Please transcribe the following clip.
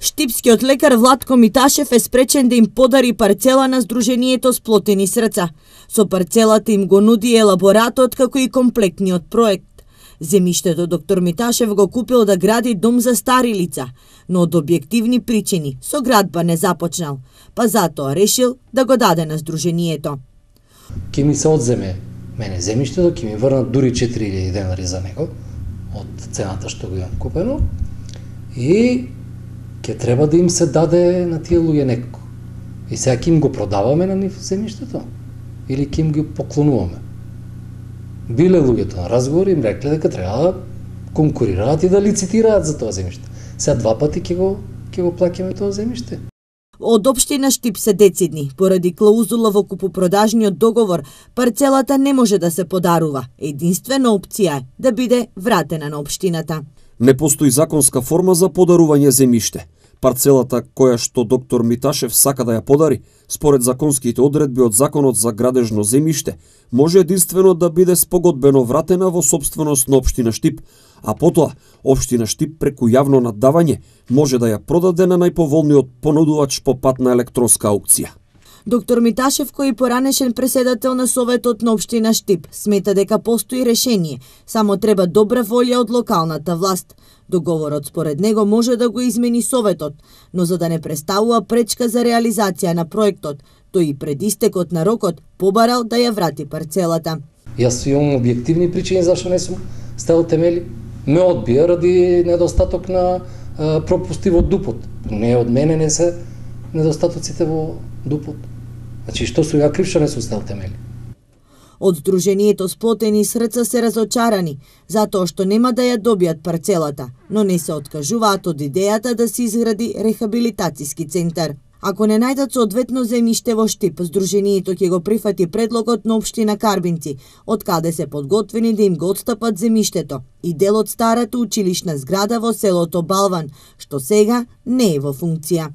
Штипскиот лекар Владко Миташев е спречен да им подари парцела на Сдруженијето Сплотени срца. Со парцелата им го нуди елаборатот како и комплектниот проект. Земјиштето доктор Миташев го купил да гради дом за стари лица, но од објективни причини со градба не започнал, па затоа решил да го даде на Сдруженијето. Ке ми се одземе мене земјиштето, ке ми врнат дури 4000 денари за него од цената што го имам купено и ќе треба да им се даде на тие луѓе некако. И сега ќе им го продаваме на нив земјиштето или ќе им го поклонуваме. Биле луѓето на разговори, им рекле дека треба да конкурираат и да лицитираат за тоа земјиште. Сега два пати ќе го плаќаме тоа земјиште. Од општина Штип се децидни. Поради клаузула во купопродажниот договор, парцелата не може да се подарува. Единствена опција е да биде вратена на општината. Не постои законска форма за подарување земјиште. Парцелата која што доктор Миташев сака да ја подари, според законските одредби од Законот за градежно земјиште, може единствено да биде спогодбено вратена во сопственост на општина Штип, а потоа општина Штип преку јавно наддавање може да ја продаде на најповолниот понудувач по пат на електронска аукција. Доктор Миташев, кој поранешен преседател на Советот на општина Штип, смета дека постои решение, само треба добра волја од локалната власт. Договорот според него може да го измени Советот, но за да не представува пречка за реализација на проектот, тој и пред истекот на рокот побарал да ја врати парцелата. Јас имам објективни причини зашто не сум ставил темели. Ме одбија ради недостаток на пропусти во ДУП-от. Не од мене не се недостатоците во ДУП-от. Значи, што су ја крив што не сум ставил темели? Од Сдруженијето Сплотени срца се разочарани, затоа што нема да ја добијат парцелата, но не се откажуваат од идејата да се изгради рехабилитациски центар. Ако не најдат соодветно земјиште во Штип, Сдруженијето ќе го прифати предлогот на општина Карбинци, од каде се подготвени да им го отстапат земјиштето и дел од старата училишна зграда во селото Балван, што сега не е во функција.